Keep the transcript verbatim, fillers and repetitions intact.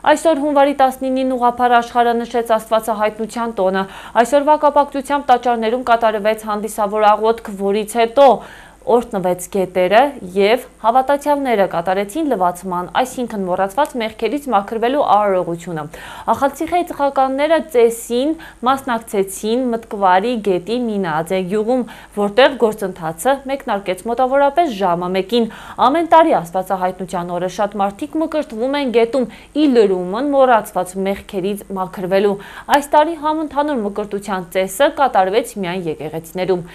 Այսօր հունվարի տասնինին ուղղափառ աշխարհը նշեց Աստվածահայտնության տոնը։ Այսօրվա կապակցությամբ տաճարներում կատարվեց հանդիսավոր աղոթք, որից հետո օրհնվեց գետերը և հավատացյալները կատարեցին լվացման, այսինքն մոռացված մեղքերից մաքրվելու արարողությունը։ Ախալցիխեի ծխականները ծեսին մասնակցեցին Մտկվարի գետի Մինաձե գյուղում, որտեղ գործընթացը մեկնարկեց մոտավորապես ժամը մեկին։ Ամեն տարի Աստվածահայտնության օրը շատ մարդիկ մկրտվում են գետում ի լրումն մոռացված մեղքերից մաքրվելու։ Այս տարի համընդհանուր մկրտության ծեսը կատարվեց միայն եկեղեցիներում։